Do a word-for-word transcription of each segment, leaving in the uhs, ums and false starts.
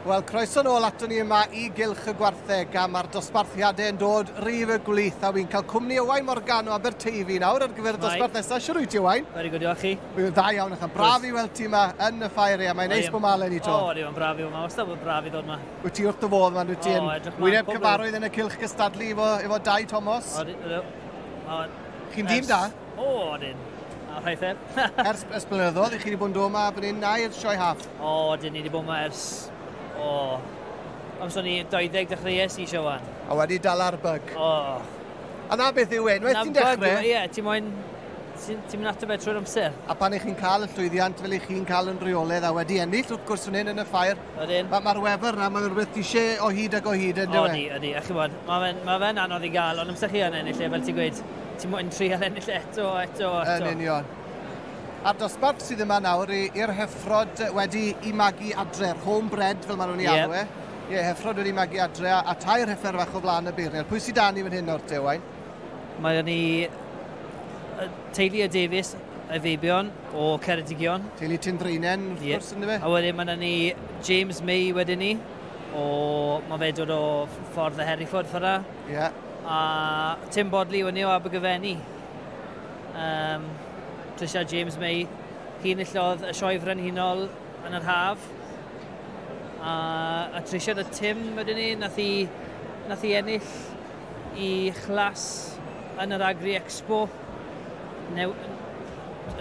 Wel, croeso nôl ato ni yma i Gylch y Gwartheg, a mae'r dosbarthiadau yn dod rif y gwlith, a wy'n cael cwmni Owain Morgan o Aberteifi nawr ar gyfer y dosbarth nesaf. Siwr wyt ti, Owain? Very good, diolch chi. Wy'n dda iawn, a braf i weld ti yma yn y ffair, a mae'n neis bod ma eleni 'to. O, mae'n braf i yma, wastad bod braf i ddod yma. Wyt ti wrth dy fodd, man, wyt ti yn wyneb cyfarwydd yn y cylch gystadlu efo, efo Dai Thomas? O, chi'n dîm da? O, odyn. A rhaid e. Ers, ers blynyddoedd, i chi wedi bod yn dod yma fan hyn na i'r sioe haf? O, odyn, ni wedi bod yma ers... O, amser ni dau ddeg dechreuais i Siowan. A wedi dal ar bug. O. A na beth yw e, unwaith ti'n dechrau... Ie, ti'n moyn... Ti'n mynd ato fe trwy'r amser. A pan ych chi'n cael y llwyddiant fel ych chi'n cael yn rheolaidd a wedi ennill wrth gwrs fan hyn yn y ffair, mae'r wefr na, mae'n rhywbeth ti eisiau o hyd ac o hyd yn dyw e? Odi, odi. A chi'n bod, mae fe'n anodd i gael, ond amser chi yn ennill e, fel ti'n gweud, ti'n moyn trial ennill eto, eto, eto. Yn union. A'r dosbarth sydd yma nawr i'r heffrod wedi i magu adre, homebred fel maen nhw'n ei alw e. Ie, heffrod wedi magu adre a, a tair heffer fach o flaen y beirniad. Pwy sydd da ni fan hyn nawr te, Owain? Mae ni teulu y Davies, y Feibion o Ceredigion. Teulu Tindreinen, wrth gwrs, ynddo fe? A wedyn mae ni James May wedyn ni, o, mae fe dod o ffordd y Hereford ffordd. Ie. A Tim Bodley wedyn o Abergyfenni. Um, Tricia James May, hi enillodd y sioe frenhinol yn yr haf. A, a Tricia a Tim wedyn ni, nath hi, nath hi ennill i chlas yn yr Agri Expo new,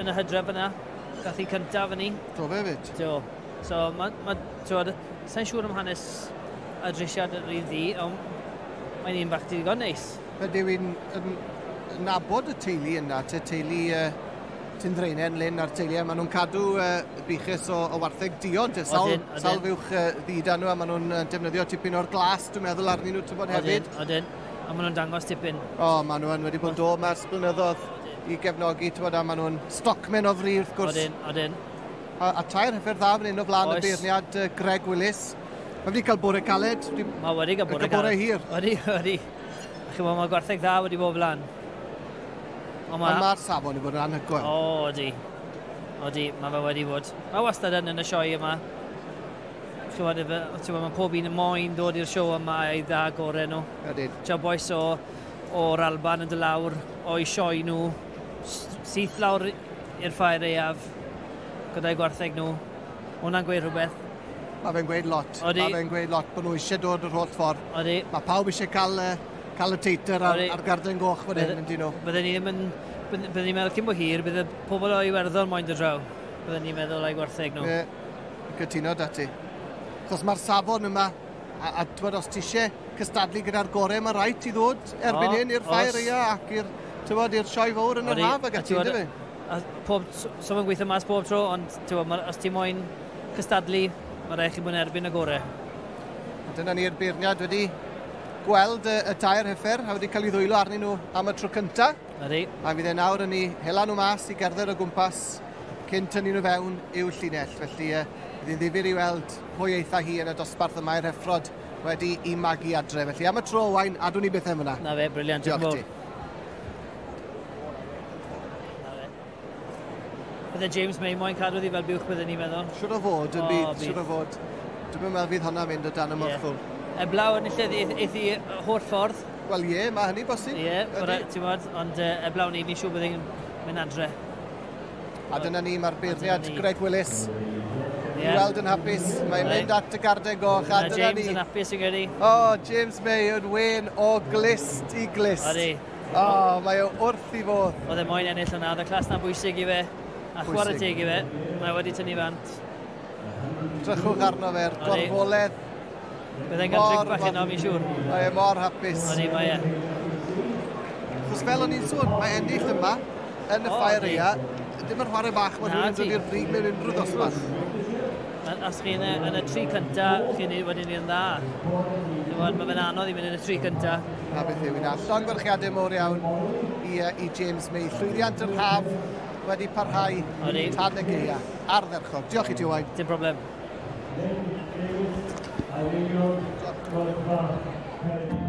yn y hydref yna. Gath hi cyntaf yn ni. Do fe fyd? Do. So, ma, ma, twod, sa'n siŵr am hanes y drisiad yr un ddi, ond mae'n un bach digon neis. Ydy wy'n nabod y teulu yna, te teulu... Uh... Tindreinen, Lyn a'r teulu, maen nhw'n cadw uh, buches o, o wartheg duon, te, sawl, sawl fuwch uh, ddu da nhw, a maen nhw'n uh, defnyddio tipyn o'r glas, dwi'n meddwl, arnyn nhw, ti'n bod hefyd. Odyn, a maen nhw'n dangos tipyn. O, maen nhw yn wedi bod yn dod mas blynyddoedd i gefnogi, ti'n bod, a maen nhw'n stockmen o fri, wrth gwrs. Odyn, odyn. A, a tair heffer dda fan hyn o flaen y beirniad uh, Greg Willis. Mae wedi cael bore caled. Mae wedi cael bore caled. Bore hir. Wedi, wedi. Chi'n bod, mae gwartheg dda wedi bod flaen. Ond mae'r safon i bod yn anhygoel. O, odi. Odi, mae fe wedi bod. Mae wastad yn yn y sioe yma. Chi'n gwybod, mae pob un yn moyn dod i'r sioe yma i dda gorau nhw. Ydyn. Tio bois o, o'r Alban yn dod lawr, o'i sioe nhw, syth lawr i'r ffair aeaf, gyda'i gwartheg nhw. Hwna'n gweud rhywbeth. Mae fe'n gweud lot. Odi. Mae fe'n gweud lot bod nhw eisiau dod yr holl ffordd. Odi. Mae pawb eisiau cael... Uh, cael y teitr ar, ar garden goch fan hyn, yndyn nhw. Bydden ni ddim yn... Bydden ni'n meddwl cyn bo hir, bydde pobl o Iwerddon moyn dod draw. Bydden ni'n meddwl o'i gwartheg nhw. Ie, cytuno da ti. Achos mae'r safon yma, a, a twyd, os ti eisiau cystadlu gyda'r gorau, mae rhaid ti ddod erbyn hyn i'r ffair aeaf ac i'r, tywod, i'r sioe fawr yn yr haf ac ati, ynddo fe? A pob, so mae'n gweithio mas bob tro, ond tywod, ma, os ti moyn cystadlu, mae rhaid chi bod yn erbyn y gorau. A dyna ni'r beirniad wedi gweld y, y tair heffer a wedi cael ei ddwylo arnyn nhw am y tro cyntaf. Ydy. A fydd e nawr yn ei hela nhw mas i gerdded o gwmpas cyn tynnu nhw fewn i'w llinell. Felly uh, bydd hi'n ddifyr i weld pwy eitha hi yn y dosbarth yma i'r heffrod wedi i magu adre. Felly am y tro, Owain, adwn ni beth am yna. Na fe, briliant. Diolch ti. Bydde James May moyn cadw ddi fel buwch bydden ni'n meddwl. Siwr o fod, yn byd, siwr o fod. Dwi'n meddwl fydd hwnna'n mynd o dan y morthwyl. Yeah. Eblaw enillydd eith i holl ffordd. Wel ie, mae hynny bosib. Ie, ti'n bod, ond uh, eblaw ni, mi'n siŵr bydd hi'n mynd adre. A dyna ni, mae'r beirniad Greg Willis. Yeah. I weld yn hapus, mae'n mynd at y garden goch, a dyna James ni. James yn hapus yn gyrru. O, oh, James May yn wen o glist i glist. Odi. O, oh, mae o wrth i fodd. Oedd e moyn ennill yna, oedd y clas na bwysig i fe, a chwarae teg i fe, mae wedi tynnu fant. Drychwch arno fe'r gorfoledd. Byddai'n cael drink bach yno, fi'n siŵr. Mae e mor hapus. Odi, mae e. Chos fel o'n i'n sôn, mae ennill yma yn y ffair aeaf, dim yn chwarae bach, mae rhywun yn dod i'r brig mewn unrhyw ddosbarth. Os chi yn y, yn y tri cynta, chi'n wedi ni'n dda. Mae fe'n anodd i mynd yn y tri cynta. Na beth yw hynna. Llongyfarchiadau mowr iawn i, i James May. Llwyddiant yr haf wedi parhau tan y gaeaf. Ardderchog. Diolch i ti, Owain. Dim problem. Thank you.